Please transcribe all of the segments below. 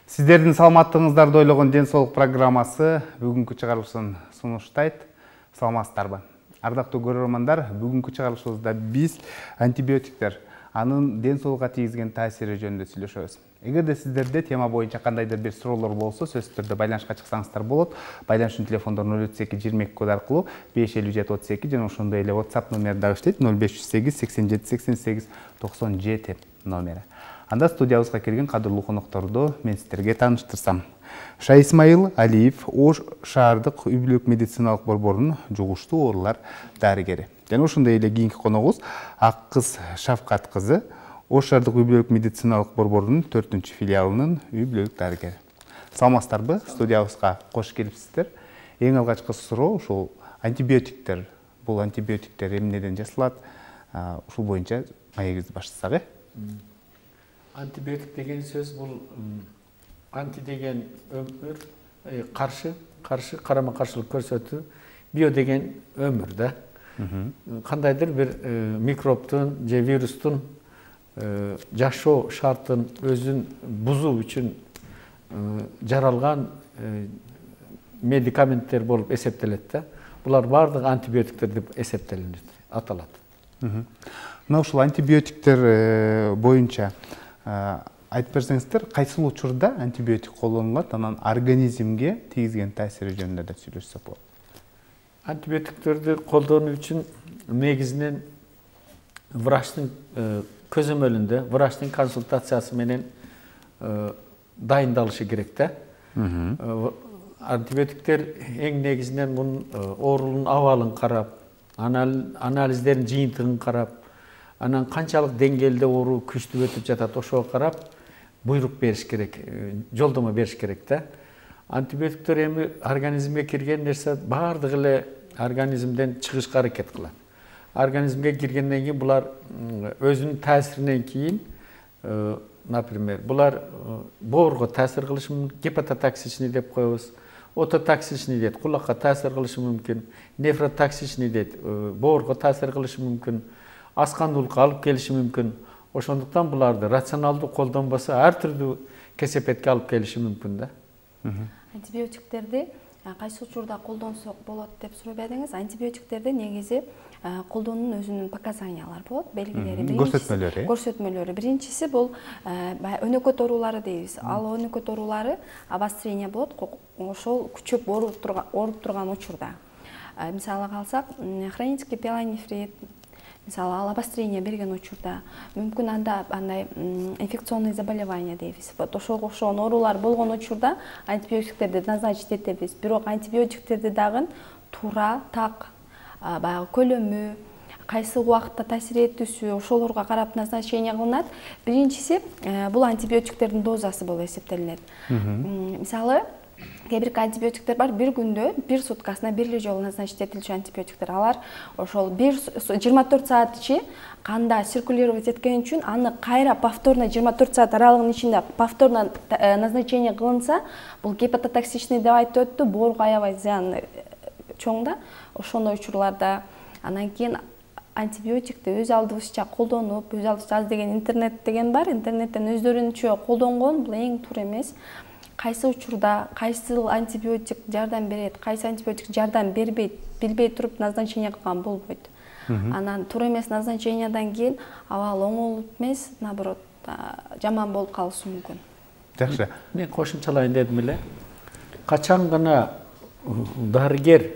Сиздердин саламаттыгыңыздарды ойлогон ден соолук программасы бүгүнкү чыгарылышын сунуштайт. Саламатсыздарбы? Ардактуу көрөрмандар, бүгүнкү чыгарылышыбызда биз антибиотиктер, анын ден соолукка тийгизген таасири жөнүндө сүйлөшөбүз. Эгерде сиздерде тема боюнча кандайдыр бир суроолор болсо, сөзсүз түрдө байланышка чыксаңыздар болот. Байланыштын телефондору 032 22 код аркылуу 557 32 жана ошондой эле WhatsApp номери дагы иштейт 0508 87 88 97 номери. Анда студиябызга келген кадырлуу конокторду мен сиздерге тааныштырсам. Шай Исмаил Алиев Ош шаардык үй-бүлөлүк медициналык борборунун жугуштуу оорулар дарыгери. Жана ошондой эле кийинки коногубуз Ак кыз Шавкат кызы Ош шаардык үй-бүлөлүк медициналык борборунун 4-филиалынын үй-бүлөлүк дарыгери. Саламатсыздарбы? Студиябызга кош келипсиздер. Эң алгачкы суроо ушул антибиотиктер. Бул антибиотиктер эмнеден жасалат? Ушул боюнча маегибизди баштасак, Антибиотик деген сөз бул анти деген өмүр, каршы карама-каршылык көрсөтүү, био деген өмүр да. Кандайдыр бир микробтун же вирустун жашоо шартын өзүн бузуу үчүн жаралган медикаменттер болуп эсептелет да. Булар бардыгы антибиотиктер деп эсептелинет, аталат. Мына ушул антибиотиктер боюнча айтып берсеңиздер, кайсыл учурда антибиотик колдонулат, анан организмге тийгизген таасири жөнүндө да сүйлөшсөк болот. Антибиотиктерди колдонуу үчүн негизинен врачтын көзөмөлүндө, врачтын консультациясы менен дайындалышы керек да. Антибиотиктер эң негизинен мунун оорунун абалын карап, анализдердин жыйынтыгын карап, анан канчалык деңгээлде оору күчтүү өтүп жатат, ошого карап буйрук бериш керек, жолдомо бериш керек да. Антибиотиктер эми организмге кирген нерсе бардыгы эле организмден чыгышка аракет кылат. Организмге киргенден кийин булар өзүнүн таасиринен кийин, например, булар боорго таасир кылышы мүмкүн, гепатотоксичный деп коебуз, ототоксичный дейт, кулакка таасир кылышы мүмкүн, нефротоксичный дейт, боорго таасир кылышы мүмкүн, аскандуулукка алып келиши мүмкүн. Ошондуктан буларды рационалдуу колдонбосо ар түрдүү кесепетке алып келиши мүмкүн да. Антибиотиктерди кайсы учурда колдонсок болот деп сурап едиңиз. Антибиотиктерди негизи колдоонун өзүнүн показаниялары болот, белгилери. Көрсөтмөлөрү. Биринчиси бул өнөкөт оорулары дейбиз. Ал өнөкөт оорулары обострение болот, ошол күчөп ооруп турган учурда. Мисалы алсак, хронический пиелонефрит, мисалы ал обострение берген учурда, мүмкүн анда андай инфекционный заболевание дейбиз. Вот ошого окшогон оорулар болгон учурда антибиотиктерди назначить этебиз. Бирок антибиотиктерди дагы туура, так, баягы көлөмү, кайсы убакытта таасир этүүсү, ошолорго карап назначение кылынат. Биринчиси бул антибиотиктердин дозасы болуп эсептелинет. Мисалы кээ бир антибиотиктер бар, бир күндө, бир суткасына бир эле жолу назначить этилчү антибиотиктер. Алар ошол 24 саат ичи канда циркулировать эткен үчүн аны кайра повторно 24 саат аралыгынын ичинде повторно назначение кылынса, бул гепатотоксичный деп айтып өттү, боорго аябай зыяны чоң да. Ошондой учурларда анан кийин антибиотикти өз алдыбызча колдонуп, өз алдыбызча аз деген интернет деген бар, интернеттен өздөрүнчө колдонгон бул эң туура эмес. Кайсы учурда кайсы антибиотик жардам берет, кайсы антибиотик жардам бербейт, билбей туруп назначение кылган болбойт. Анан туура эмес назначениядан кийин абал оңолуп эмес, наоборот, жаман болуп калышы мүмкүн. Жакшы. Мен кошумчалайын дедим эле. Качан гана дарыгер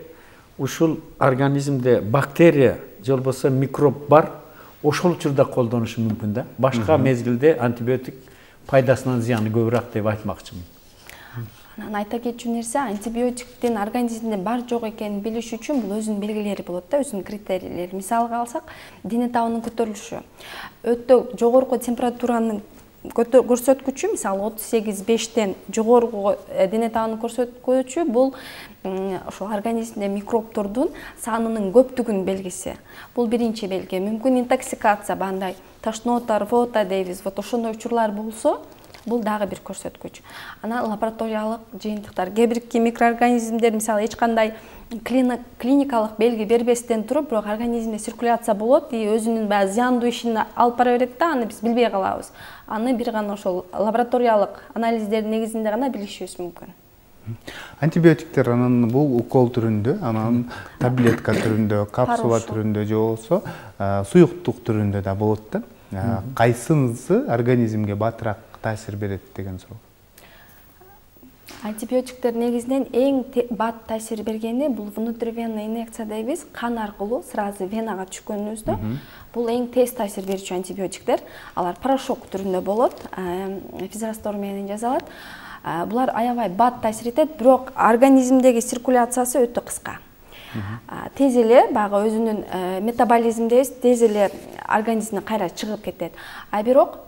ушул организмде бактерия же болбосо микроб бар, ошол учурда колдонушу мүмкүн да. Башка мезгилде антибиотик пайдасынан зыяны көбүрөөк деп айтмакчымын. Айта кетчү нерсе, антибиотиктин организмде бар жок экенин билиш үчүн бул өзүнүн белгилери болот да, өзүнүн критерийлери. Мисалга алсак, дене табынын көтөрүлүшү. Өтө жогорку температуранын көрсөткүчү, мисалы 38,5тен жогорку дене табынын көрсөткүчү бул ошол организмде микробтордун санынын көптүгүнүн белгиси. Бул биринчи белги. Мүмкүн интоксикация, бандай тошнота, рвота дейбиз. Вот ошондой учурлар болсо, бул дагы бир көрсөткүч. Анан лабораториялык жыйынтыктар, кээ бир микроорганизмдер мисалы эч кандай клиникалык белги бербестен туруп, бирок организмде циркуляция болот и өзүнүн баягы зыяндуу ишин алып бара берет да, аны биз билбей калабыз. Аны бир гана ошол лабораториялык анализдердин негизинде гана билишибиз мүмкүн. Антибиотиктер анан бул укол түрүндө, анан таблетка түрүндө, капсула түрүндө же болбосо суюктук түрүндө да болот да. Кайсынысы организмге батыраак таасир берет деген суроо. Антибиотиктер негизинен эң бат таасир бергени бул внутривенный инъекция дейбиз, кан аркылуу сразу венага түшкөнүбүздө. Бул эң тез таасир берүүчү антибиотиктер. Алар порошок түрүндө болот, физраствор менен жасалат. Булар аябай бат таасир этет, бирок организмдеги циркуляциясы өтө кыска. Тез эле баягы өзүнүн метаболизмдебиз, тез эле организмден кайра чыгып кетет. А бирок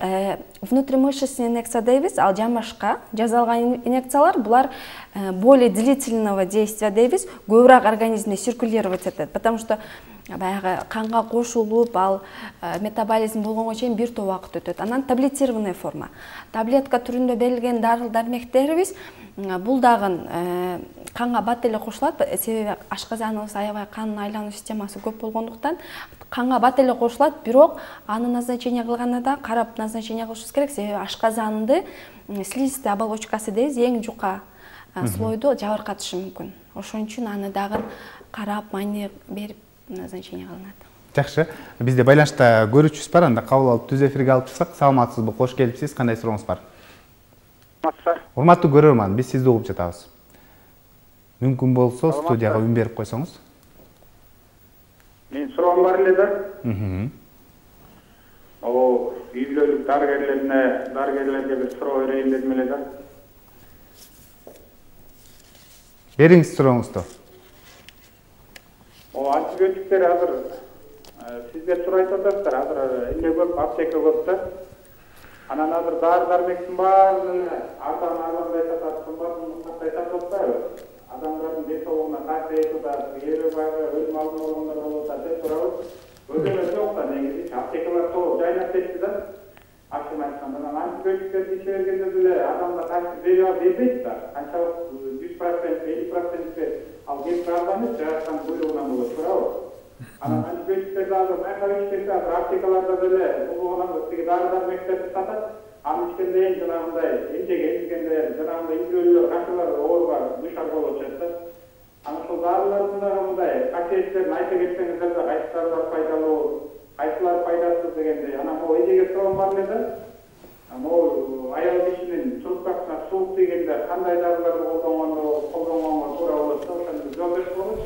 внутримышечный инъекция дейбиз, ал жан башка жасалган инъекциялар, булар более длительного действия дейбиз, көбүрөөк организмде циркулировать этет, потому что баягы канга кошулуп, ал метаболизм болгонго чейин бир топ убакыт өтөт. Анан таблетированный форма. Таблетка түрүндө берилген дарыл-дармектерибиз бул дагы канга бат эле кошулат, себеби ашказаныбыз аябай кандын айлануу системасы көп болгондуктан канга бат эле кошулат, бирок аны назначение кылганда карап назначение кылышыбыз керек, себеби ашказанды слизистая оболочкасы дейбиз, эң жука слойду жабыркатышы мүмкүн. Ошон үчүн аны дагы карап, майне берип назначение кылынат. Жакшы, бизде байланышта көрүүчүбүз бар, анда кабыл алып түз эфирге алып чыксак. Саламатсызбы, кош келипсиз, кандай сурооңуз бар? Урматтуу көрөрман, биз сизди угуп жатабыз. Мүмкүн болсо студияга үн берип койсоңуз. Мен суроом бар эле да. Үй бүлөлүк дарыгерлерге бир суроо берейин дедим эле да. Бериңиз сурооңузду. Антибиотиктер азыр сиздер сурайт атасыздар, азыр эмне көп, аптека көп да. Анан азыр дары-дармектин баарын арзандай сатат, кымбаттай сатып атпайбы? Адамдардын ден соолугуна таасир этип атат, баягы өлүм алдын алгандар болуп атат деп сурабыз. Өзүнө жок да, негизи аптекалар толук жайнап кетти да. Акчаны айтканда, анан антибиотиктерди иче бергенде деле адамга таасир бербейт да. Канчалык 100%, 50% ал кеп арзанып, жараткан буйругунан болот, туурабы? Анан антибиотиктерди азыр байкап ичкенде, азыр аптекаларда деле бул тиги дары-дармектерди сатат. Аны ичкенде жанагындай эмчеге эмизгенде жанагындай үй бүлөлөр канчалар ооруга душар болуп жатат да. Анан ошол дарылардын дагы мындай касиеттерин айта кетсеңиздер да, кайсы дарылар пайдалуу, кайсылар пайдасыз дегендей. Анан могу эжеге суроом бар эле да. Могу аял кишинин трубкасына суук тийгенде кандай дарыларды колдонгонго туура болот да, ошону жооп берип койгуз.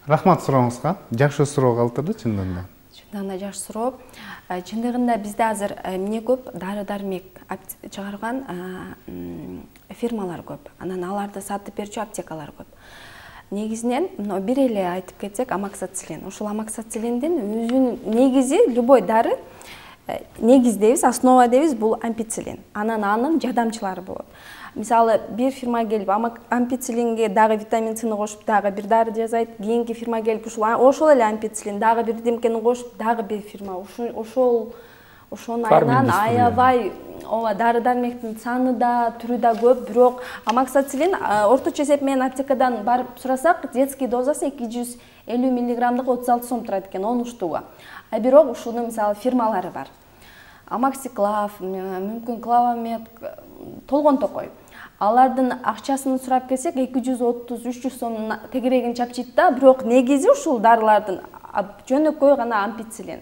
Рахмат сурооңузга. Жакшы суроо калтырды чындыгында. Чындыгында жакшы суроо. Чындыгында бизде азыр эмне көп, дары-дармек чыгарган фирмалар көп. Анан аларды сатып берүүчү аптекалар көп. Негизинен бир эле айтып кетсек, амоксициллин. Ушул амоксициллиндин өзүнүн негизи любой дары негиз дейбиз, основа дейбиз, бул ампициллин. Анан анын жардамчылары болот. Мисалы, бир фирма келип ампициллинге дагы витамин С кошуп, дагы бир дары жасайт. Кийинки фирма келип ошол эле ампициллин дагы бир демкени кошуп, дагы бир фирма ошонун айынан аябай дары-дармектин саны да, түрү да көп, бирок амоксициллин орточо эсеп менен аптекадан барып сурасак, детский дозасы 250 мг 36 сом турат экен, 10 штуга. А бирок ушунун мисалы фирмалары бар. Амоксиклав, мүмкүн Клавамед, толгон токой. Алардын акчасын сурап келсек 230-300 сом тегерегин чапчыйт да, бирок негизи ушул дарылардын жөнөкөй гана ампициллин.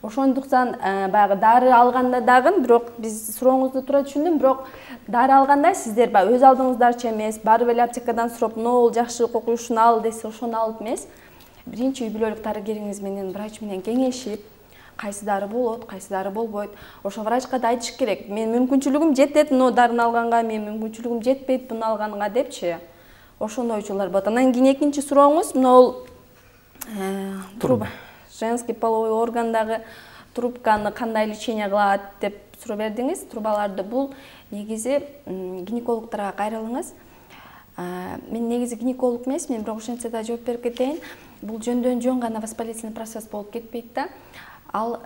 Ошондуктан баягы дары алганда дагы, бирок биз сурооңузду туура түшүндүм, бирок дары алганда сиздер өз алдыңыздарча эмес, барып эле аптекадан сурап, "Нол жакшы кокуй, ушуну ал" десе, ошону алып эмес. Биринчи үй бүлөлүк дарыгериңиз менен, врач менен кеңешип, кайсы дары болот, кайсы дары болбойт. Ошо врачка да айтыш керек. Мен мүмкүнчүлүгүм жетет мына дарыны алганга, мен мүмкүнчүлүгүм жетпейт буну алганга депчи. Ошондой учурлар болот. Анан кийин экинчи сурооңуз, мына труба. Женский половой органдагы трубканы кандай лечение кылат деп суроо бердиңиз. Трубаларды бул негизи гинекологторго кайрылыңыз. Мен негизи гинеколог эмес, мен бирок ошентсе да жооп берип кетейин. Бул жөндөн жөн гана воспалительный процесс болуп кетпейт да. Ал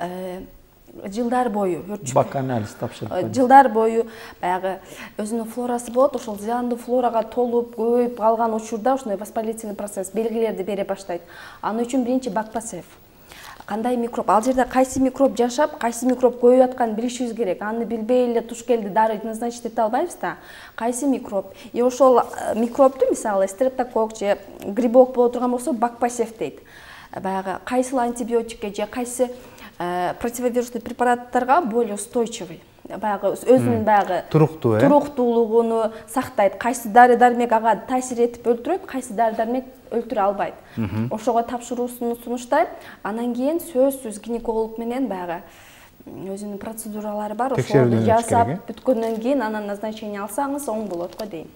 жылдар бою өрчүп бак анализ тапшырып жылдар бою баягы өзүнүн флорасы болот, ошол зыяндуу флорага толуп көбөйүп калган учурда ушундай воспалительный процесс белгилерди бере баштайт. Анын үчүн биринчи бакпасев. Кандай микроб, ал жерде кайсы микроб жашап, кайсы микроб көбөйүп атканын билишибиз керек. Аны билбей эле туш келди дары назначить эте албайбыз да. Кайсы микроб? И ошол микробду мисалы стрептокок же грибок боло турган болсо бакпасев дейт. Баягы кайсыл антибиотикке же кайсы противовирусный препараттарга более устойчивый. Баягы өзүнүн баягы туруктуулугуну сактайт. Кайсы дары-дармек ага таасир этип өлтүрөт, кайсы дары-дармек өлтүрө албайт. Ошого тапшыруусун сунуштайт. Анан кийин сөзсүз гинеколог менен баягы өзүнүн процедуралары бар. Ошолорду жасап бүткөндөн кийин анан назначение алсаңыз оң болот го дейм.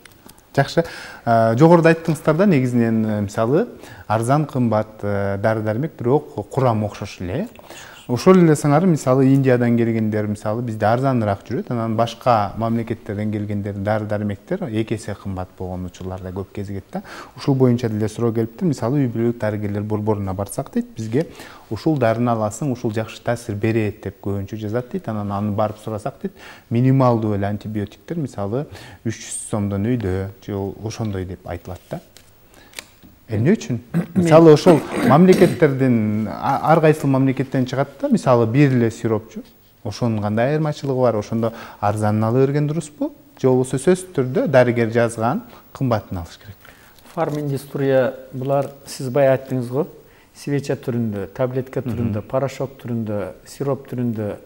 Жакшы. Жогоруда айттыңыздар да негизинен мисалы арзан кымбат дары-дармек, бирок курам окшош эле. Ошол эле сыңары мисалы Индиядан келгендер мисалы бизде арзаныраак жүрөт, анан башка мамлекеттерден келгендер дары-дармектер эки эсе кымбат болгон учурларда көп кезигет да. Ушул боюнча деле суроо келиптир. Мисалы үй бүлөлүк дарыгерлер борборуна барсак дейт, бизге ушул дарыны аласың, ушул жакшы таасир берет деп көбүнчө жазат дейт. Анан аны барып сурасак дейт, минималдуу эле антибиотиктер мисалы 300 сомдон үйдө же ошондой деп айтылат да. Эмне үчүн? Мисалы ошол мамлекеттерден ар кайсыл мамлекеттен чыгат да, мисалы бир эле сиропчу. Ошонун кандай айырмачылыгы бар? Ошондо арзанын ала берген дурусбу? Же болбосо сөзсүз түрдө дарыгер жазган кымбатын алыш керек? Фарминдустрия булар сиз бая айттыңыз го, свеча түрүндө, таблетка түрүндө, порошок түрүндө, сироп түрүндө,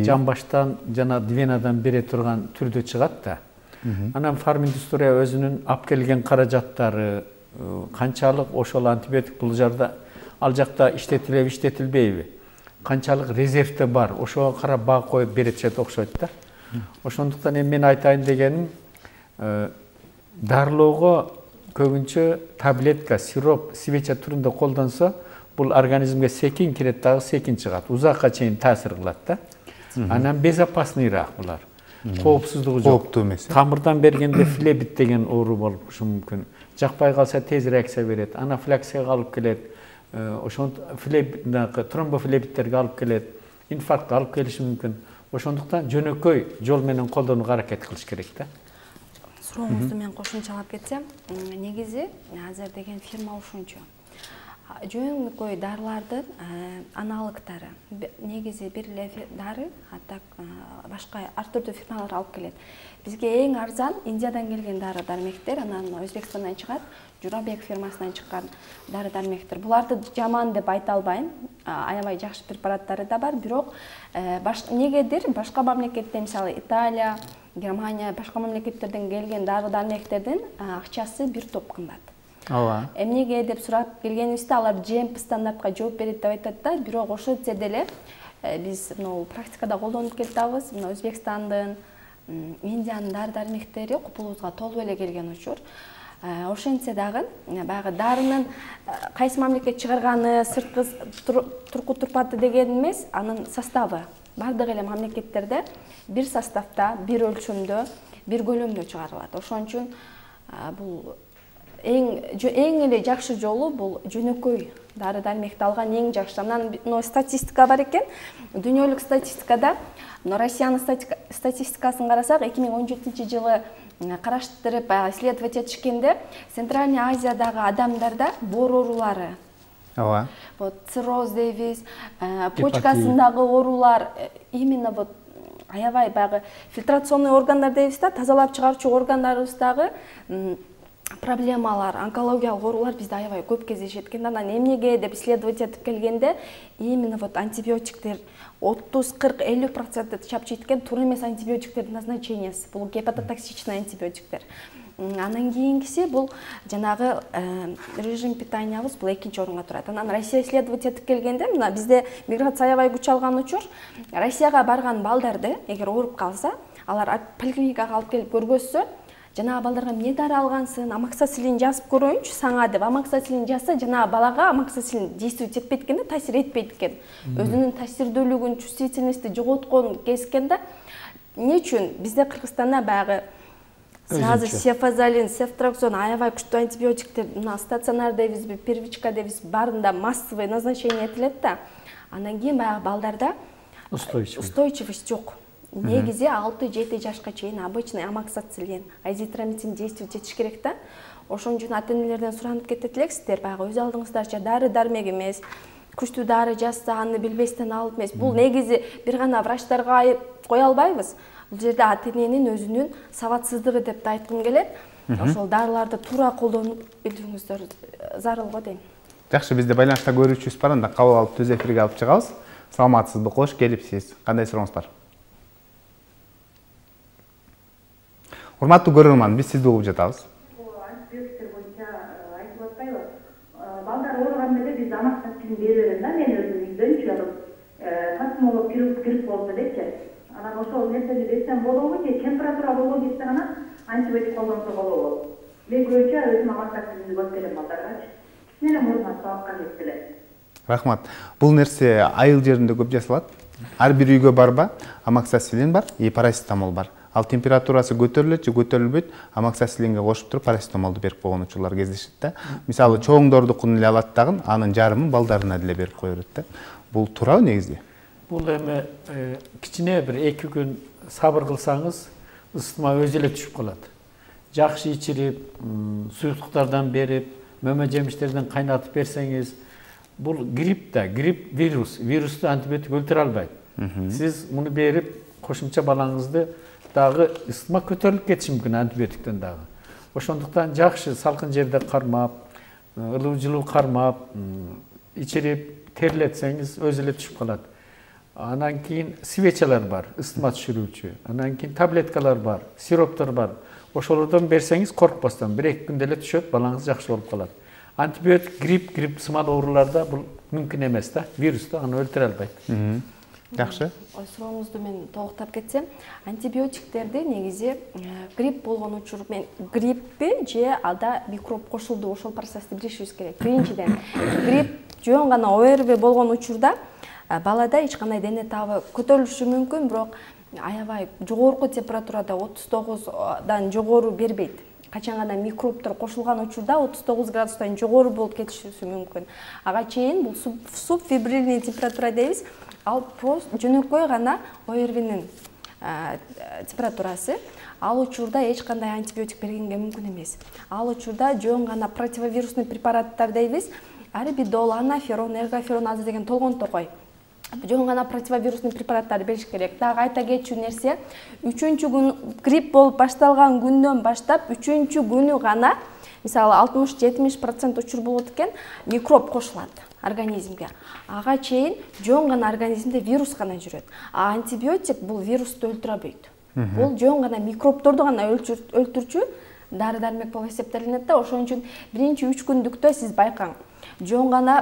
жамбаштан жана венадан бере турган түрдө чыгат да. Анан фарминдустрия өзүнүн алып келген каражаттары канчалык ошол антибиотик бул жерде ал жакта иштетилеби, иштетилбейби, канчалык резервде бар, ошого карап баа коюп беришет окшойт да. Ошондуктан эми мен айтайын дегеним, дарылоого көбүнчө таблетка, сироп, свеча түрүндө колдонсо, бул организмге секин кирет дагы секин чыгат, узакка чейин таасир кылат да. Анан безопасныйраак булар. Коопсуздугу жок. Кооптуу эмес. Тамырдан бергенде флебит деген оору болушу мүмкүн. Жакпай калса тез реакция берет, анафилаксияга алып келет, тромбофлебиттерге алып келет, инфарктка алып келиши мүмкүн. Ошондуктан жөнөкөй жол менен колдонууга аракет кылыш керек да. Сурооңузду мен кошумчалап кетсем, негизи азыр деген фирма ушунчу. Жөнөкөй дарылардын аналогдору негизи бир эле дары, аттак башка ар түрдүү фирмалар алып келет. Бизге эң арзан Индиядан келген дары-дармектер, анан Өзбекстандан чыгат, Журабек фирмасынан чыккан дары-дармектер. Буларды жаман деп айта албайм. Аябай жакшы препараттары да бар, бирок негедир башка мамлекеттен, мисалы Италия, Германия, башка мамлекеттерден келген дары-дармектердин акчасы бир топ кымбат. Ооба. Эмнеге деп сурап келгенибизде алар GMP стандартка жооп берет деп айтат да, бирок ошентсе деле биз практикада колдонуп келатабыз. Өзбекстандын, Индиянын дары-дармектери купулубузга толуп эле келген учур. Ошентсе дагы баягы дарынын кайсы мамлекет чыгарганы, сырткы турку турпаты деген эмес, анын составы. Бардык эле мамлекеттерде бир составда, бир өлчөмдө, бир көлөмдө чыгарылат. Ошон үчүн бул эң эле жакшы жолу бул жөнөкөй дары-дармекти алган эң жакшы. Анан статистика бар экен. Дүйнөлүк статистикада Россиянын статистикасын карасак, 2017-жылы караштырып исследовать этишкенде, Центральный Азиядагы адамдарда боор оорулары, цирроз дейбиз, почкасындагы оорулар, именно аябай баягы фильтрационный органдар дейбиз да, тазалап чыгарчу органдарыбыздагы проблемалар, онкологиялык оорулар бизде аябай көп кездешет экен. Анан эмнеге деп исследовать этип келгенде, именно антибиотиктер 30-40-50% чапчыйт экен, туура эмес антибиотиктердин назначениясы. Бул гепатотоксичный антибиотиктер. Анан кийинкиси бул жанагы режим питаниябыз, бул экинчи орунга турат. Анан Россия исследовать этип келгенде, мына бизде миграция аябай күч алган учур, Россияга барган балдарды эгер ооруп калса, алар поликлиникага алып келип көргөзсө, жанагы балдарга эмне дары алгансың, амоксициллин жазып көрөйүнчү саңа деп амоксициллин жазса, жанагы балага амоксициллин действовать этпейт экен да, таасир этпейт экен. Өзүнүн таасирдүүлүгүн, чувствительности жоготкон кез экен да. Эмне үчүн бизде Кыргызстанда баягы сразу сефазолин, сефтраксон аябай күчтүү антибиотиктер, мына стационар дейбизби, первичка дейбиз, баарында массовый назначение этилет да. Андан кийин баягы балдарда устойчивость жок. Негизи 6-7 жашка чейин обычный амоксициллин, азитромицин действий жетиш керек да. Ошон үчүн ата-энелерден суранып кетет элексиздер, баягы өз алдыңыздарча дары-дармек эмес, күчтүү дары жазса аны билбестен алып эмес. Бул негизи бир гана врачтарга айып кое албайбыз. Бул жерде ата-эненин өзүнүн сабатсыздыгы деп да айткым келет. Ошол дарыларды туура колдонуп билүүңүздөр зарыл го дейм. Жакшы, бизде байланышта көрүүчүбүз бар, анда кабыл алып түз эфирге алып чыгабыз. Саламатсызбы, кош келипсиз. Кандай сурооңуз бар? Урматтуу көрөрман, биз сизди угуп жатабыз. Антибиотиктер боюнча айтып атпайбы? Балдар ооруган эле биз амоксициллин бере берем да, мен өзүм үйдөнчү. Тасмолоп кирип болду депчи. Анан ошол нерсени берсем болобу же температура болгон кезде гана антибиотик колдонсо болобу? Мен көбүнчө өзүм амоксициллинди көп берем балдаргачы. Менин мурдуман сабакка кетти. Рахмат. Бул нерсе айыл жеринде көп жасалат. Ар бир үйгө барба, амоксициллин бар, и парацетамол бар. Ал температурасы көтөрүлөт же көтөрүлбөйт, амоксициллинге кошуп туруп парацетамолду берип койгон учурлар кездешет да. Мисалы, чоңдордукун эле алат дагы, анын жарымын балдарына деле берип коёт да. Бул туурабы негизи? Бул эми кичине бир 2 күн сабыр кылсаңыз, ысытма өзү эле түшүп калат. Жакшы ичирип, суюктуктардан берип, мөмө жемиштерден кайнатып берсеңиз, бул грипп да, грипп вирусту антибиотик өлтүрө албайт. Сиз муну берип, кошумча балаңызды дагы ысытма көтөрүлүп кетиши мүмкүн антибиотиктен дагы. Ошондуктан жакшы салкын жерде кармап, ылуу жылуу кармап, ичирип, терлетсеңиз өзү эле түшүп калат. Анан кийин свечалар бар, ысытма түшүрүүчү. Анан кийин таблеткалар бар, сироптор бар. Ошолордон берсеңиз коркпостон 1-2 күндө эле түшөт, балаңыз жакшы болуп калат. Антибиотик грипп сымал ооруларда бул мүмкүн эмес да, вирусту аны өлтүрө албайт. Жакшы. Сурооңузду мен толуктап кетсем, антибиотиктерди негизи грипп болгон учур мен гриппи же ада микроб кошулду, ошол процессти билишибиз керек. Биринчиден, грипп жөн гана ОРВ болгон учурда балада эч кандай дене табы көтөрүлүшү мүмкүн, бирок аябай жогорку температурада 39дан жогору бербейт. Качан гана микробтор кошулган учурда 39 градустан жогору болуп кетиши мүмкүн. Ага чейин бул субфебрильный температура дейбиз. Ал просто жөнөкөй гана ОРВнин температурасы. Ал учурда эч кандай антибиотик бергенге мүмкүн эмес. Ал учурда жөн гана противовирусный препараттар дейбиз. Арбидол, анаферон, эргоферон деген толгон токой. Жөн гана противовирусный препараттарды бериш керек. Дагы айта кетчү нерсе, 3-күн грипп болуп башталган күндөн баштап 3-күнү гана, мисалы 60-70% учур болот экен, микроб кошулат организмге. Ага чейин жөн гана организмде вирус гана жүрөт. А антибиотик бул вирусту өлтүрөбөйт. Бул жөн гана микробторду гана өлтүрчү дары-дармек болуп эсептелинет да. Ошон үчүн биринчи 3 күндүктө сиз байкаң. Жөн гана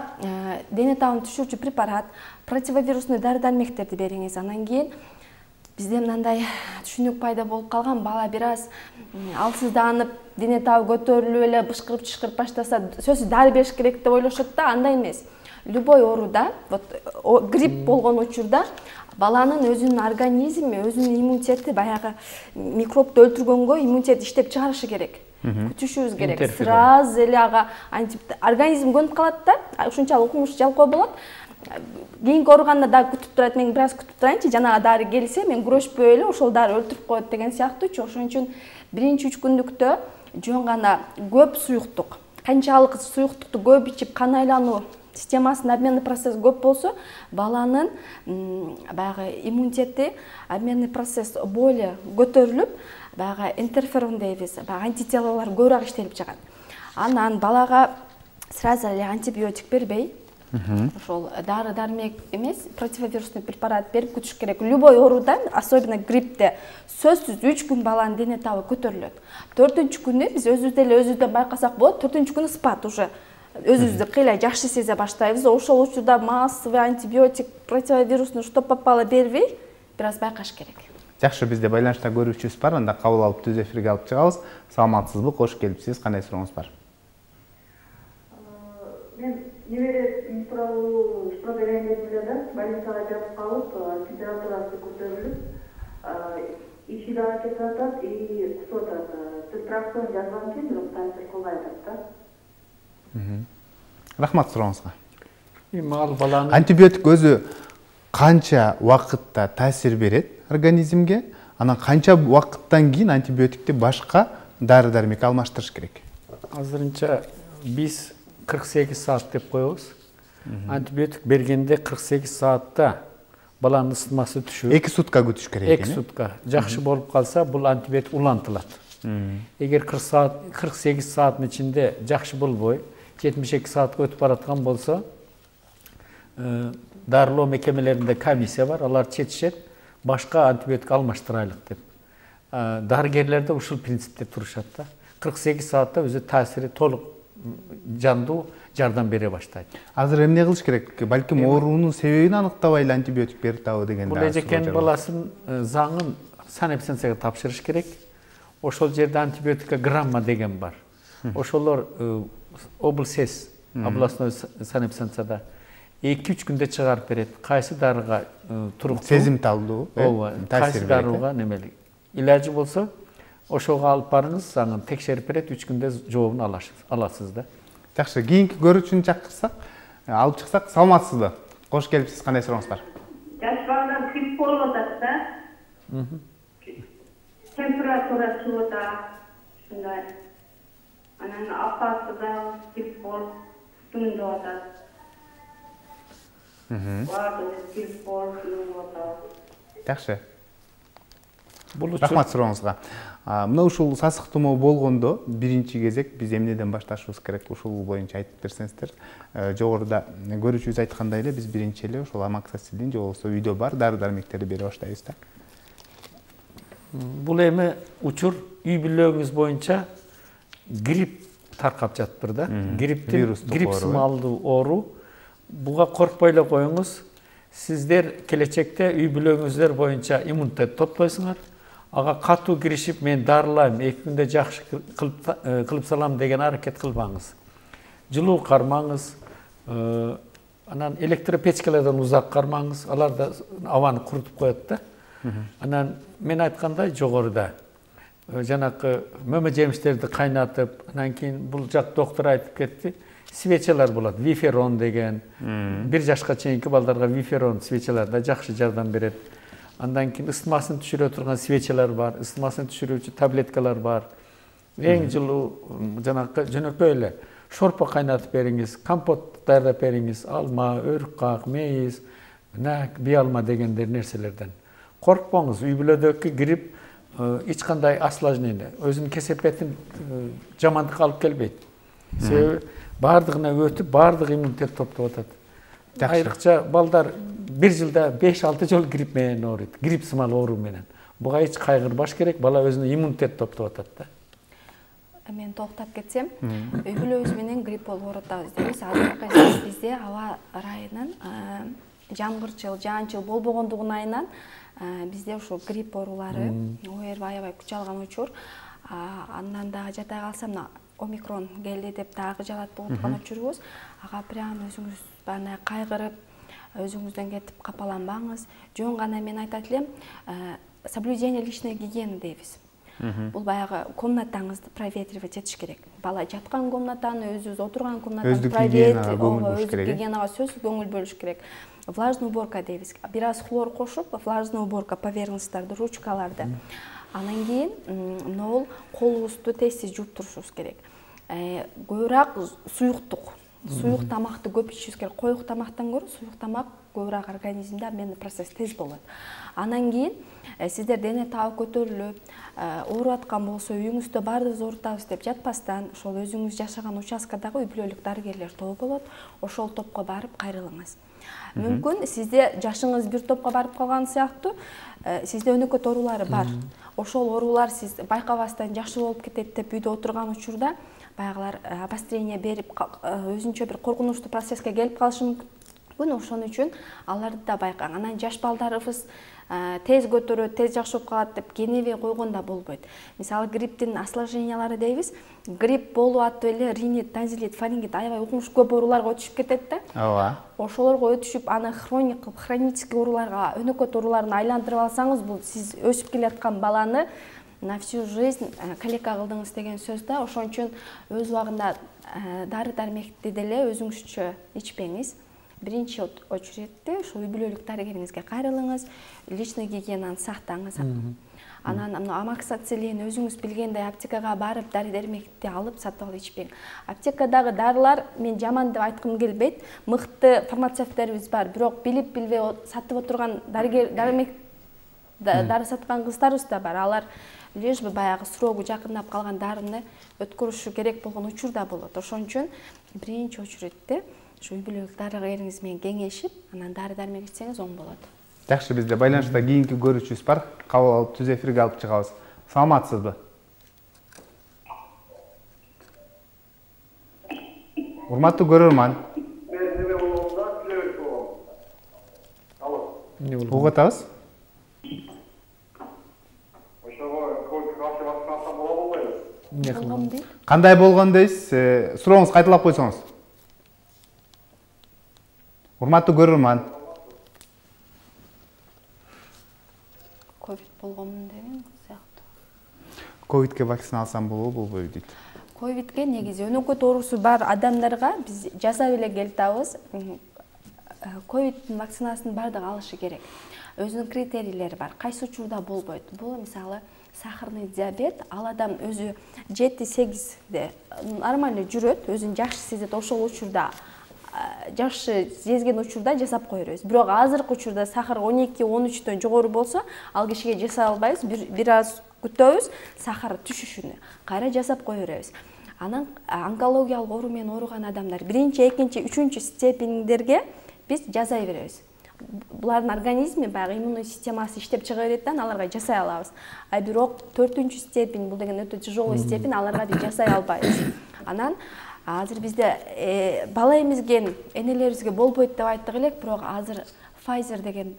дене табын түшүрчү препарат, противовирусный дары-дармектерди бериңиз. Анан кийин бизде мындай түшүнүк пайда болуп калган, бала бир аз алсызданып, дене табы көтөрүлүп эле бышкырып баштаса, сөзсүз дары бериш керек деп ойлошот да, андай эмес. Любой ооруда, грипп болгон учурда баланын өзүнүн организми, өзүнүн иммунитети баягы микробду өлтүргөнгө иммунитет иштеп чыгарышы керек. Күтүшүбүз керек. Сразу эле ага организм көнүп калат да, ушунчалык укмуш жалкоо болот. Кийинки ооруганда дагы күтүп турат, мен бир аз күтүп турайынчы, жанагы дары келсе, мен күрөшпөй эле ошол дары өлтүрүп коет деген сыяктуучу. Ошон үчүн биринчи 3 күндүктө жөн гана көп суюктук, канчалык суюктукту көп ичип, кан айлануу системасында обменный процесс көп болсо, баланын баягы иммунитети, обменный процесс более көтөрүлүп, баягы интерферон дейбиз, баягы антителолор көбүрөөк иштелип чыгат. Анан балага сразу эле антибиотик бербей, ошол дары-дармек эмес, противовирусный препарат берип күтүш керек. Любой ооруда, особенно гриппте, сөзсүз 3 күн баланын дене табы көтөрүлөт. 4-күнү күнү биз өзүбүздөн байкасак болот, 4-күнү күнү спад уже өзүбүздү кыйла жакшы сезе баштайбыз. Ошол учурда массовый антибиотик, противовирусный что попало бербей, бир аз байкаш керек. Жакшы, бизде байланышта көрүүчүбүз бар, анда кабыл алып түз эфирге алып чыгабыз. Саламатсызбы, кош келипсиз, кандай сурооңуз бар? Мен небере тууралуу что берейин деп элем, больницага жатып калып, температурасы көтөрүлүп, иши дагы кетип атат, и кусуп атат. Цитрасон жазган экен, бирок таасир кылбай атат да. Рахмат сурооңузга. Эми ал баланын антибиотик өзү канча убакытта таасир берет организмге, анан канча убакыттан кийин антибиотикти башка дары дармекке алмаштырыш керек? Азырынча биз 48 саат деп коебуз. Антибиотик бергенде 48 саатта баланын ысытмасы түшүп, 2 сутка күтүш керек. 2 сутка. Жакшы болуп калса, бул антибиотик улантылат. Эгер 48 сааттын ичинде жакшы болбой, 72 саатка өтүп бараткан болсо, дарылоо мекемелеринде комиссия бар, алар чечишет, башка антибиотик алмаштырайлык деп. Дарыгерлер да ушул принципте турушат да. 48 саатта өзү таасири толук жандуу жардам бере баштайт. Азыр эмне кылыш керек? Балким оорунун себебин аныктабай эле антибиотик берип табы деген. Бул эжекен баласын заңын санэпидстанцияга тапшырыш керек. Ошол жерде антибиотика грамма деген бар. Ошолор облсес, областной санэпидстанцияда 2-3 күндө чыгарып берет. Кайсы дарыга туруктуу, сезимталдуу, кайсы дарыга немелик. Илажы болсо, ошого алып барыңыз, аны текшерип берет, 3 күндө жообун аласыз да. Жакшы, кийинки көрүүчүнү чакырсак, алып чыксак, саламатсызбы? Кош келипсиз, кандай сурооңуз бар? Жаш балдар грипп болуп атат да. Температура чыгып атат, ушундай. Анан апасы да грипп болуп, түндө атат. Грипп болуп атат. Жакшы. Рахмат сурооңузга. Мына ушул сасык тумоо болгондо биринчи кезек биз эмнеден башташыбыз керек? Ушул боюнча айтып берсеңиздер. Жогоруда көрүүчүбүз айткандай эле биз биринчи эле ошол амоксисилин же болбосо үйдө бар дары-дармектерди бере баштайбыз да. Бул эми учур үй бүлөгүңүз боюнча грипп таркап жатыптыр да. Грипп сымалдуу оору. Буга коркпой эле коюңуз. Сиздер келечекте үй бүлөгүңүздөр боюнча иммунитет топтойсуңар. Ага катуу киришип, мен дарылайм, 2 күндө жакшы кылып салам деген аракет кылбаңыз. Жылуу кармаңыз, анан электропечкалардан узак кармаңыз, алар да абаны курутуп коет да. Анан мен айткандай жогоруда жанакы мөмө жемиштерди кайнатып, анан кийин бул жак доктор айтып кетти, свечалар болот, виферон деген. 1 жашка чейинки балдарга виферон свечалар да жакшы жардам берет. Андан кийин ысытмасын түшүрө турган свечалар бар, ысытмасын түшүрүүчү таблеткалар бар. Эң жылуу жанакы жөнөкөй эле шорпо кайнатып бериңиз, компот даярдап бериңиз, алма, өрүккак, мейиз, нак, биалма дегендер нерселерден. Коркпоңуз, үй бүлөдөгү грипп эч кандай осложнение, өзүнүн кесепетин жамандыкка алып келбейт. Себеби бардыгына өтүп, бардык иммунитет топтоп атат. Айрыкча балдар 1 жылда 5-6 жол грипп менен ооруйт, грипп сымал оору менен. Буга эч кайгырбаш керек, бала өзүнүн иммунитет топтоп атат да. Мен токтоп кетсем, үй бүлөбүз менен грипп болуп атабыз дейбиз. Азыркы бизде аба ырайынан жамгырчыл, жаанчыл болбогондугун айынан бизде ушул грипп оорулары аябай күч алган учур. Андан дагы жатай калса мына омикрон келди деп дагы жалат болуп аткан учурубуз. Ага прям өзүңүз бана кайгырып, өзүңүздөн кетип капаланбаңыз. Жөн гана мен айтат элем, соблюдение личной гигиены дейбиз. Бул баягы комнатаңызды проветривать этиш керек. Бала жаткан комнатаны, өзүбүз отурган комнатаны проветривать, гигиенага сөзсүз көңүл бөлүш керек. Влажный уборка дейбиз. Бир аз хлор кошуп, влажный уборка поверхностьтарды, ручкаларды. Анан кийин могул колубузду тез жууп турушубуз керек. Көбүрөөк суюк тамакты көп ичишибиз керек. Коюк тамактан көрө суюк тамак көбүрөөк организмде обменный процесс тез болот. Анан кийин сиздер дене табы көтөрүлүп, ооруп аткан болсо үйүңүздө баардыгыбыз оорутабыз деп жатпастан, ошол өзүңүз жашаган участкадагы үй бүлөлүк дарыгерлер тобу болот. Ошол топко барып кайрылыңыз. Мүмкүн сизде жашыңыз бир топко барып калган сыяктуу, сизде өнөкөт оорулары бар. Ошол оорулар сиз байкабастан жакшы болуп кетет деп үйдө отурган учурда баягылар обострение берип өзүнчө бир коркунучтуу процесске келип калышы мүмкүн. Ошон үчүн аларды да байкаң. Анан жаш балдарыбыз тез көтөрөт, тез жакшы болуп калат деп кенебей койгондо болбойт. Мисалы грипптин осложнениялары дейбиз. Грипп болуп атып эле ринит, танзилит, фарингит аябай укмуш көп ооруларга өтүшүп кетет да. Ооба. Ошолорго өтүшүп, аны хронический ооруларга, өнөкөт ооруларына айландырып алсаңыз, бул сиз өсүп келаткан баланы на всю жизнь калека кылдыңыз деген сөз да. Ошон үчүн өз убагында дары-дармекти деле өзүңүзчө ичпеңиз. биринчи очередте ошо үй бүлөлүк дарыгериңизге кайрылыңыз, личный гигиенаны сактаңыз. Анан амоксициллин өзүңүз билгендей аптекага барып дары-дармекти алып сатып алып ичпең. Аптекадагы дарылар мен жаман деп айткым келбейт. Мыкты фармацевттерибиз бар, бирок билип билбей сатып отурган дары саткан кыздарыбыз да бар. Алар лишь бы баягы срогу жакындап калган дарыны өткөрүшү керек болгон учур да болот. Ошон үчүн биринчи очередте ушу үй бүлөлүк дарыгериңиз менен кеңешип, анан дары-дармек ичсеңиз оң болот. Жакшы, бизде байланышта кийинки көрүүчүбүз бар. Кабыл алып түз эфирге алып чыгабыз. Саламатсызбы? Урматтуу көрөрман. Угуп атабыз? Кандай болгон дейсиз? Сурооңузду кайталап койсоңуз. Урматтуу көрөрман. Ковид болгонмун деген сыяктуу. Ковидке вакцина алсам болобу, болбойбу дейт. Ковидке негизи өнөкөт оорусу бар адамдарга биз жасап эле келатабыз. Ковиддин вакцинасын бардыгы алышы керек. Өзүнүн критерийлери бар. Кайсы учурда болбойт? Бул мисалы сахарный диабет, ал адам өзү 7-8де нормально жүрөт, өзүн жакшы сезет, ошол учурда жакшы сезген учурда жасап кое беребиз. Бирок азыркы учурда сахар 12-13дөн жогору болсо, ал кишиге жасай албайбыз. Бир аз күтөбүз, сахар түшүшүнө кайра жасап кое беребиз. Анан онкологиялык оору менен ооруган адамдар 1-2, 3 степендерге биз жасай беребиз. Булардын организми баягы иммундук системасы иштеп чыга берет да, аларга жасай алабыз. А бирок 4 степень, бул деген өтө тяжелый степень, аларга биз жасай албайбыз. Анан азыр бизде бала эмизген энелерибизге болбойт деп айттык элек, бирок азыр Pfizer деген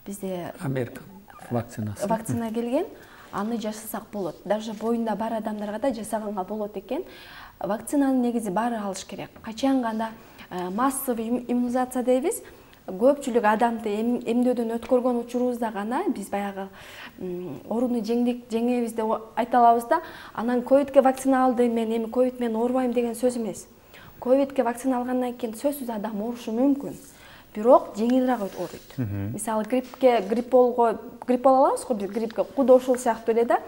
бизде Америка вакцина келген, аны жасасак болот. Даже боюнда бар адамдарга да жасаганга болот экен. Вакцинаны негизи баары алыш керек. Качан гана массовый иммунизация дейбиз. Көпчүлүк адамды эмдөөдөн өткөргөн учурубузда гана биз баягы ооруну жеңебиз деп айта алабыз да. Анан ковидке вакцина алдым, мен эми ковид менен оорубайм деген сөз эмес. Ковидке вакцина алгандан кийин сөзсүз адам оорушу мүмкүн. Бирок жеңилирээк ооруйт. Мисалы грипп боло алабыз го, биз гриппке куда ошол сыяктуу эле да.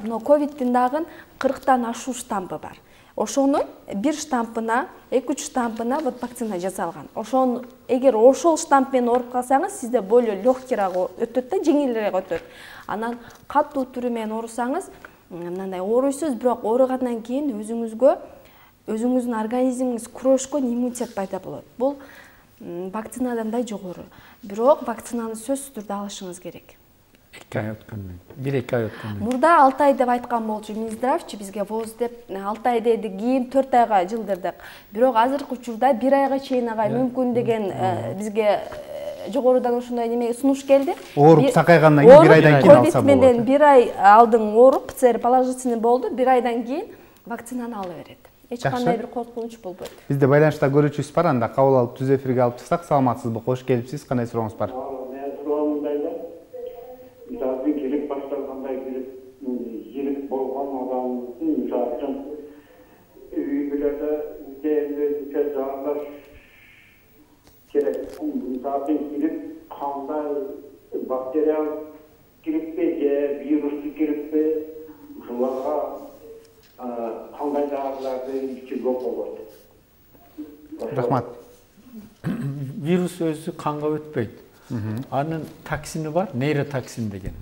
Мына ковиддин дагы 40тан ашуу штампы бар. Ошонун бир штампына, 2-3 штампына вакцина жасалган. Эгер ошол штамп менен ооруп калсаңыз, сизде более легкийраак өтөт да, жеңилирээк өтөт. Анан катуу түрү менен оорусаңыз, мындай ооруйсуз, бирок ооругандан кийин өзүңүздүн организмиңиз күрөшкөн иммунитет пайда болот. Бул вакцинадан да жогору. Бирок вакцинаны сөзсүз түрдө алышыңыз керек. 2 ай өткөндөн, 1-2 ай өткөндөн. Мурда 6 ай деп айткан болчу Минздравчы бизге ВОЗ деп 6 ай деди, кийин 4 айга жылдырдык. Бирок азыркы учурда 1 айга чейин агай мүмкүн деген бизге жогорудан ошондой неме сунуш келди. Ооруп сакайгандан кийин 1 айдан кийин алса болот. Ковид менен 1 ай алдың ооруп, ПЦР положительный болду, 1 айдан кийин вакцинаны ала берет. Эч кандай бир коркунуч болбойт. Бизде байланышта көрүүчүбүз бар, анда кабыл алып түз эфирге алып чыксак. Саламатсызбы? Кош келипсиз. Кандай сурооңуз бар? Кандай бактериялык гриппе же вирустук гриппе ушуларга кандай дарыларды ичүүгө болот? Рахмат. Вирус өзү канга өтпөйт. Анын токсини бар, нейротоксин деген.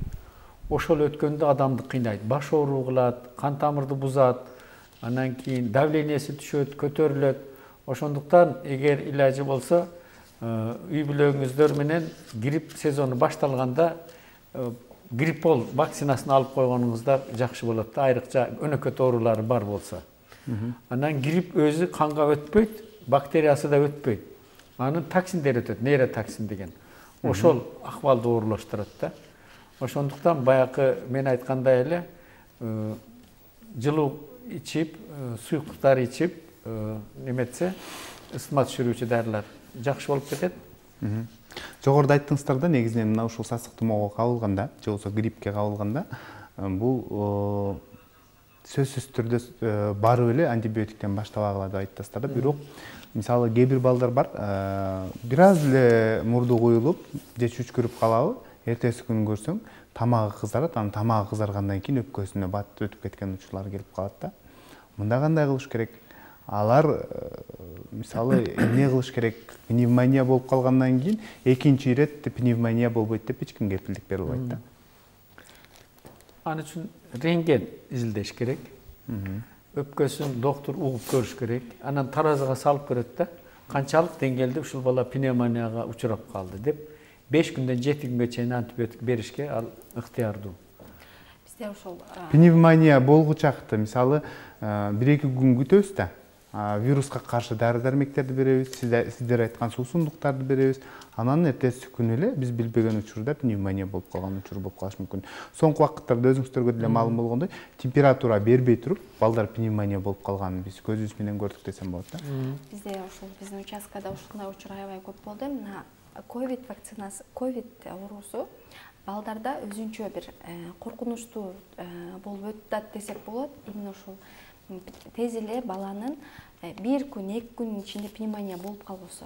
Ошол өткөндө адамды кыйнайт, баш ооруу кылат, кан тамырды бузат, анан кийин давлениеси түшөт, көтөрүлөт. Ошондуктан эгер илажы болсо, үй бүлөңүздөр менен грипп сезону башталганда гриппол вакцинасын алып койгонуңуздар жакшы болот да, айрыкча өнөкөт оорулары бар болсо. Анан грипп өзү канга өтпөйт, бактериясы да өтпөйт. Анын токсиндери өтөт, нейротоксин деген. Ошол акыбалды оорулаштырат да. Ошондуктан баягы мен айткандай эле жылуу ичип, суюктуктар ичип, неметсе, ысытма түшүрүүчү дарылар жакшы болуп кетет. Жогоруда айттыңыздар да, негизинен мына ушул сасык тумоого кабылганда, же болбосо гриппке кабылганда, бул сөзсүз түрдө барып эле антибиотиктен баштабагыла деп айтасыздар да. Бирок мисалы кээ бир балдар бар, бир аз эле мурду куюлуп же чүчкүрүп калабы, эртеси күнү көрсөң тамагы кызарат, анан тамагы кызаргандан кийин өпкөсүнө бат өтүп кеткен учурлар келип калат да. Мында кандай кылыш керек? Алар мисалы эмне кылыш керек? Пневмония болуп калгандан кийин экинчи ирет пневмония болбойт деп эч ким кепилдик бере албайт да. Аны үчүн рентген изилдеш керек. Өпкөсүн доктор угуп көрүш керек. Анан таразыга салып көрөт да, канчалык деңгээлде ушул бала пневмонияга учурап калды деп 5 күндөн 7 күнгө чейин антибиотик беришке ал ыктыярдуу. Бизде ошол пневмония болгучакты мисалы 1-2 күн күтөбүз да. Вируска каршы дары-дармектерди беребиз, сиздер айткан суусундуктарды беребиз. Анан эртеси күнү эле биз билбеген учурда пневмония болуп калган учур болуп калышы мүмкүн. Соңку вакыттарда өзүңүздөргө деле маалым болгондой, температура бербей туруп, балдар пневмония болуп калганын биз көзүбүз менен көрдүк десем болот да. Бизде ошол биздин участкада ушундай учур аябай көп болду. Мына ковид вакцинасы, ковид оорусу балдарда өзүнчө бир коркунучтуу болуп өтүп десек болот. Именно ушул тез эле баланын 1 күн, 2 күнүн ичинде пневмония болуп калбосо.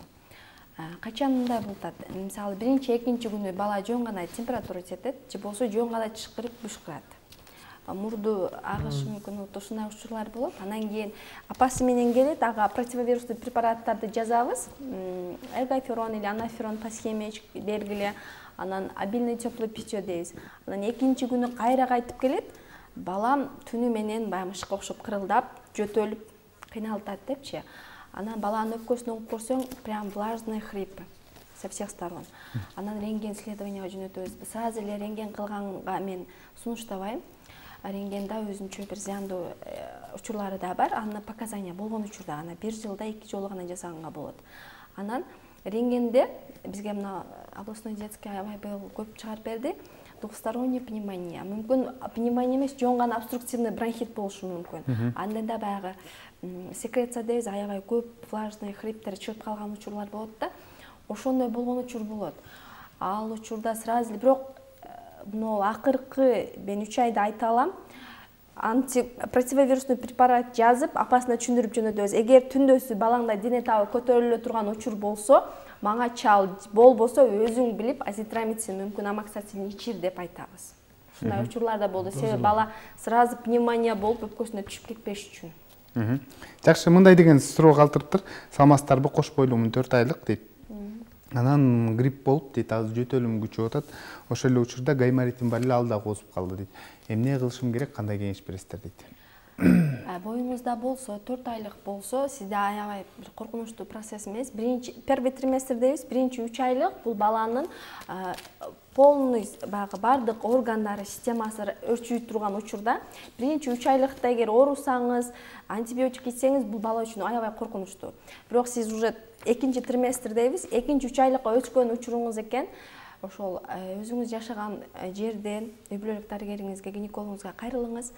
Качан мындай болуп атат? Мисалы, биринчи, экинчи күнү бала жөн гана температура жетет, же болсо жөн гана чышкырып бышкырат. Мурду агышы мүмкүн, ушундай учурлар болот. Анан кийин апасы менен келет, ага противовирусный препараттарды жазабыз. Эргоферон или анаферон по схеме бергиле, анан обильное теплое питье дейбиз. Анан экинчи күнү кайра кайтып келет. Балам түнү менен баягы мышка окшоп кырылдап, жөтөлүп, кыйналып атат депчи. Анан баланын өпкөсүн угуп көрсөң, прям влажный хрип со всех сторон. Анан рентген исследованияга жөнөтөбүз. Сразу эле рентген кылганга мен сунуштабайм. Рентгенда өзүнчө бир зыяндуу учурлары да бар. Аны показания болгон учурда гана 1 жылда 2 жолу гана жасаганга болот. Анан рентгенде бизге мына областной детский аябай көп чыгарып берди. Двухсторонняя пневмония. Мүмкүн пневмония эмес, жөн гана обструктивный бронхит болушу мүмкүн. Анда баягы секреция дейбиз, аябай көп влажный хриптер чыгып калган учурлар болот да. Ошондой болгон учур болот. Ал учурда сразу бирок мына акыркы мен 3 айда айта алам. Противовирусный препарат жазып, апасына түшүндүрүп жөнөтөбүз. Эгер түндөсү балаңда дене табы көтөрүлө турган учур болсо, мага чал, болбосо өзүң билип азитромицин, мүмкүн амоксициллин ичир деп айтабыз. Ушундай учурларда болду. Себеби бала сразу пневмония болуп өпкөсүнө түшүп кетпеш үчүн. Жакшы, мындай деген суроо калтырыптыр. Саламатсыздарбы, кош бойлуумун 4 айлык дейт. Анан грипп болуп дейт, азыр жөтөлүм күчүп атат. Ошол эле учурда гайморитим бар эле, ал да козуп калды дейт. Эмне кылышым керек, кандай кеңеш бересиздер дейт. Боюңузда болсо, 4 айлык болсо, сизде аябай бир коркунучтуу процесс эмес. Первый триместр дейбиз, биринчи 3 айлык бул баланын полный бардык органдары, системасы өрчүйүп турган учурда. Биринчи 3 айлыкта эгер оорусаңыз, антибиотик ичсеңиз, бул бала үчүн аябай коркунучтуу. Бирок сиз уже экинчи триместр дейбиз, экинчи 3 айлыкка өткөн учуруңуз экен. Ошол өзүңүз жашаган жерден үй бүлөлүк дарыгериңизге, гинекологуңузга кайрылыңыз.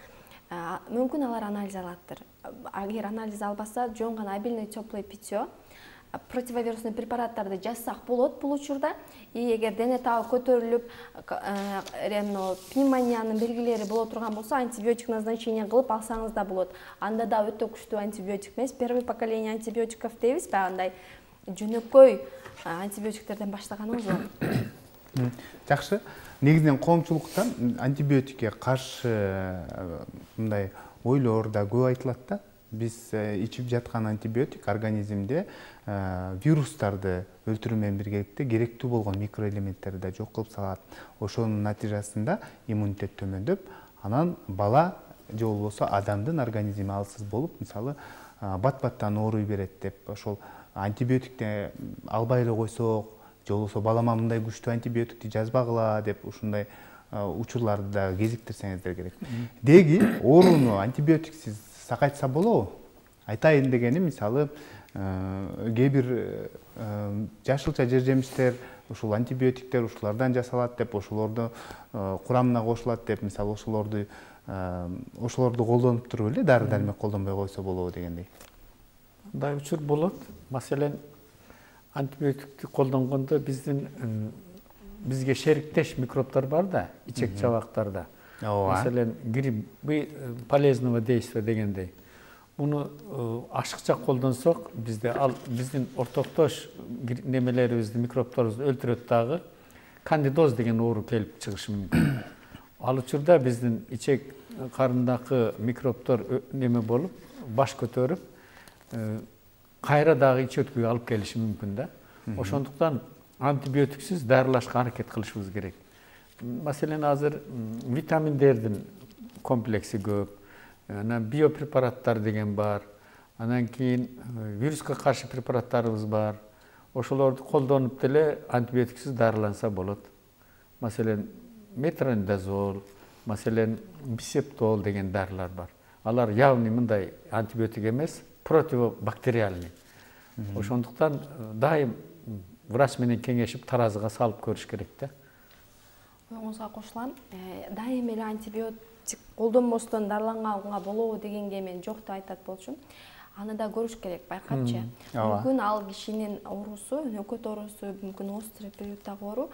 Мүмкүн алар анализ алаттыр. Эгер анализ албаса, жөн гана обильное теплое питье, противовирусный препараттарды жазсак болот бул учурда. И эгер дене табы көтөрүлүп, пневмониянын белгилери боло турган болсо, антибиотик назначение кылып алсаңыз да болот. Анда да өтө күчтүү антибиотик эмес, первое поколение антибиотиков дейбиз, андай жөнөкөй антибиотиктерден баштаганыңыз оң. Жакшы. Негизинен коомчулуктан антибиотикке каршы мындай ойлор да көп айтылат да. Биз ичип жаткан антибиотик организмде вирустарды өлтүрүү менен биргеликте керектүү болгон микроэлементтерди да жок кылып салат. Ошонун натыйжасында иммунитет төмөндөп, анан бала же болбосо адамдын организми алсыз болуп, мисалы бат-баттан ооруй берет деп, ошол антибиотикти албай эле койсок, же болбосо балама мындай күчтүү антибиотикти жазбагыла деп ушундай учурларды да кезиктирсеңиздер керек. Деги ооруну антибиотиксиз сакайтса болобу? Айтайын дегеним, мисалы, кээ бир жашылча жер жемиштер, ушул антибиотиктер ушулардан жасалат деп, ошолорду курамына кошулат деп, мисалы, ошолорду колдонуп туруп эле дары-дармек колдонбой койсо болобу дегендей. Мындай учур болот. Маселен, антибиотикти колдонгондо бизге шериктеш микробтор бар да, ичек чабактарда. Маселен, грипп полезного действия дегендей. Муну ашыкча колдонсок, биздин ортоктош немелерибизди, микробторубузду өлтүрөт дагы кандидоз деген оору келип чыгышы мүмкүн. Ал учурда биздин ичек карындагы микробтор неме болуп, баш көтөрүп, кайра дагы ич өткүгө алып келиши мүмкүн да. Ошондуктан антибиотиксиз дарылашка аракет кылышыбыз керек. Маселен, азыр витаминдердин комплекси көп, анан биопрепараттар деген бар, анан кийин вируска каршы препараттарыбыз бар. Ошолорду колдонуп деле антибиотиксиз дарыланса болот. Маселен, метронидазол, маселен, бисептол деген дарылар бар. Алар явный мындай антибиотик эмес, противобактериальный. Ошондуктан дайым врач менен кеңешип таразыга салып көрүш керек да. Оюңузга кошулам. Дайым эле антибиотик колдонбостон дарыланганга болобу дегенге мен жок деп айтат болчумун. Аны да көрүш керек, байкапчы. Мүмкүн ал кишинин оорусу, нөкөт оорусу, мүмкүн острый периоддагы оору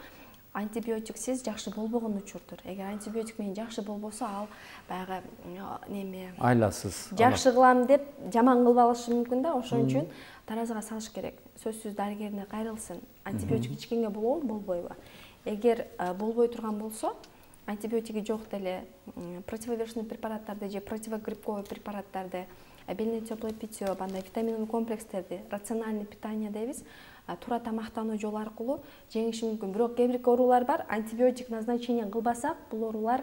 антибиотиксиз жакшы болбогон учурдур. Эгер антибиотик менен жакшы болбосо, ал баягы неме айласыз. Жакшы кылам деп жаман кылып алышы мүмкүн да. Ошон үчүн таразыга салыш керек. Сөзсүз дарыгерине кайрылсын. Антибиотик ичкенге болобу, болбойбу? Эгер болбой турган болсо, антибиотиги жок деле противовирусный препараттарды же противогрипповый препараттарды, обильное теплое питье, бандай витаминовый комплекстерди, рациональный питание дейбиз, туура тамактануу жолу аркылуу жеңиши мүмкүн. Бирок кээ бир оорулар бар, антибиотик назначение кылбасак, бул оорулар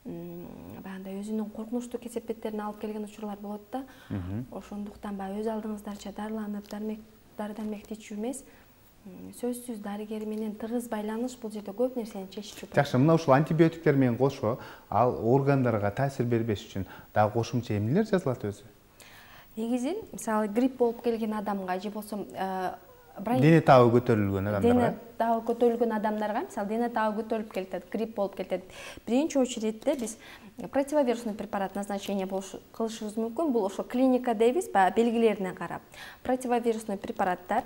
баягындай өзүнүн коркунучтуу кесепеттерине алып келген учурлар болот да. Ошондуктан өз алдыңыздарча дарыланып, дары-дармекти ичүү эмес, сөзсүз дарыгер менен тыгыз байланыш бул жерде көп нерсени чечиши болот. Жакшы, мына ушул антибиотиктер менен кошо, ал органдарга таасир бербеш үчүн дагы кошумча эмнелер жазылат өзү? Негизи, мисалы, грипп болуп келген адамга же болсо дене табы көтөрүлгөн адамдарга, дене табы көтөрүлгөн адамдарга, мисалы, дене табы көтөрүлүп келет, грипп болуп келет. Биринчи очередде биз противовирусный препарат назначение кылышыбыз мүмкүн. Бул ошо клиника дейбиз, белгилерине карап. Противовирусный препараттар,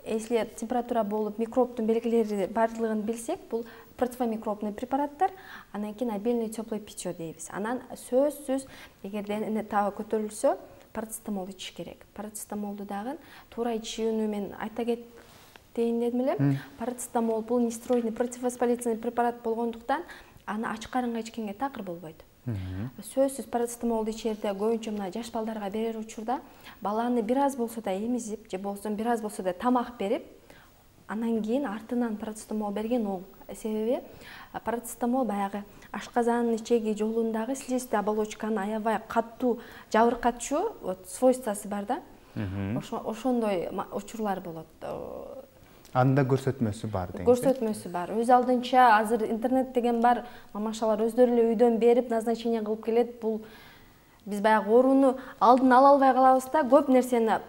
если температура болуп, микробтун белгилери бардыгын билсек, бул противомикробный препараттар, анан кийин обильное теплое питье дейбиз. Анан сөзсүз, эгер дене табы көтөрүлсө, парацетамол ичиш керек. Парацетамолду дагы туура ичүүнү мен айта кетейин дедим эле. Парацетамол бул нестероидный противовоспалительный препарат болгондуктан аны ачык карынга ичкенге такыр болбойт. Сөзсүз парацетамолду ичерде көбүнчө мына жаш балдарга берер учурда баланы бир аз болсо да эмизип, же болсо бир аз болсо да тамак берип, анан кийин артынан парацетамол берген оң. Себеби парацетамол баягы ашказандын ичеги жолундагы слизистый оболочканы аябай катуу жабыркатчу свойствосы бар да. Ошондой учурлар болот. Анда көрсөтмөсү бар дейм. Көрсөтмөсү бар. Өз алдынча азыр интернет деген бар, мамашалар өздөрү эле үйдөн берип назначение кылып келет. Бул биз баягы ооруну алдын ала албай калабыз да, көп нерсени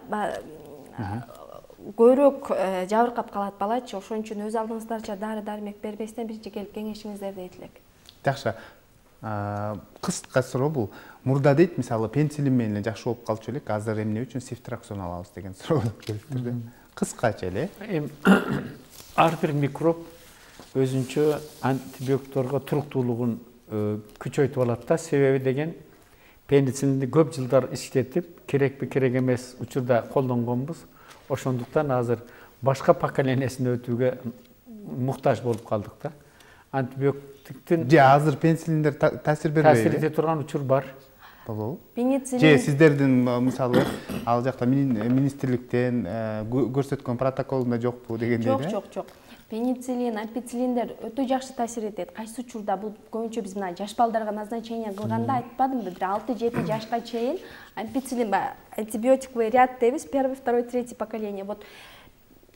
көбүрөөк жабыркап калат балачы. Ошон үчүн өз алдыңыздарча дары-дармек бербестен биринчи келип кеңешиңиздерди айтылат. Жакшы. Кыска суроо бул. Мурда дейт, мисалы, пенсилин менен жакшы болуп калчу элек, азыр эмне үчүн сифтраксон алабыз деген суроо келиптир. Кыскача эле. Ар бир микроб өзүнчө антибиотикторго туруктуулугун күчөйтүп алат да. Себеби деген пеницилинди көп жылдар иштетип, керекпи керек эмес учурда колдонгонбуз. Ошондуктан азыр башка поколениесине өтүүгө муктаж болуп калдык да. Антибиотиктин азыр пенсилиндер таасир бербейби? Таасир эте турган учур бар. Пенициллин же сиздердин мисалы ал жакта министрликтен көрсөткөн протоколунда жокпу дегендей да? Жок. Пенициллин, ампициллиндер өтө жакшы таасир этет. Кайсы учурда бул көбүнчө биз мына жаш балдарга назначение кылганда айтпадымбы, бир 6-7 жашка чейин ампициллин антибиотиковый ряд дейбиз, 1, 2, 3 поколение. Вот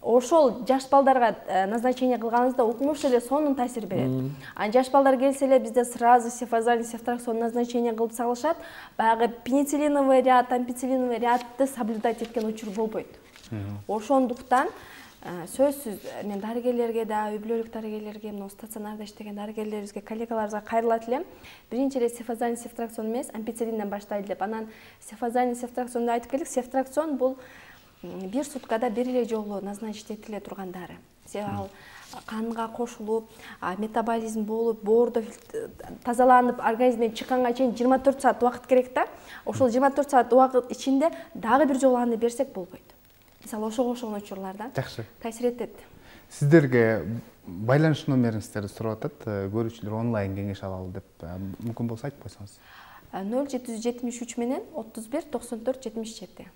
ошол жаш балдарга назначение кылганыбызда укмуш эле сонун таасир берет. А жаш балдар келсе эле бизде сразу сефазалин, сефтраксон назначение кылып салышат. Баягы пенициллиновый ряд, ампициллиновый рядты соблюдать эткен учур болбойт. Ошондуктан сөзсүз мен дарыгерлерге да, үй бүлөлүк дарыгерлерге, мына стационарда иштеген дарыгерлерибизге, коллегаларыбызга кайрылат элем. Биринчи эле сефазалин, сефтраксон эмес, ампициллинден баштайлы деп. Анан сефазалин, сефтраксонду айтып келдик. Сефтраксон бул бир суткада бир эле жолу назначить этиле турган дары. Ал канга кошулуп, метаболизм болуп, боордо тазаланып, организмден чыкканга чейин 24 саат убакыт керек да. Ошол 24 саат убакыт ичинде дагы бир жолу аны берсек болбойт. Мисалы ошого окшогон учурларда таасир этет. Сиздерге байланыш номериңиздерди сурап атат, көрүүчүлөр онлайн кеңеш алалы деп, мүмкүн болсо айтып койсоңуз. 0773 менен 31 94 77.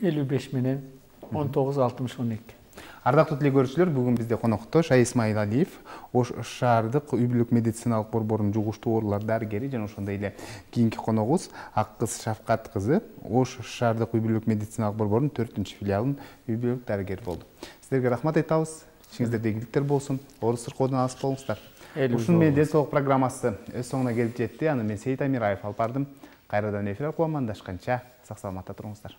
55 менен 19 60 12. Ардактуу телекөрүүчүлөр, бүгүн бизде конокто Шай Исмайылалиев, Ош шаардык үй бүлөк медициналык борборунун жугуштуу оорулар дарыгери жана ошондой эле кийинки коногубуз Аккыз Шафкат кызы, Ош шаардык үй бүлөк медициналык борборунун 4-филиалынын үй бүлөк дарыгери болду. Сиздерге рахмат айтабыз. Ишиңиздерде ийгиликтер болсун. Ооруз сыркоодон алыс болуңуздар. Ушун менен ден соолук программасы өз соңуна келип жетти. Аны мен Сейит Амираев алып бардым. Кайрадан эфир аркылуу амандашканча сак саламатта туруңуздар.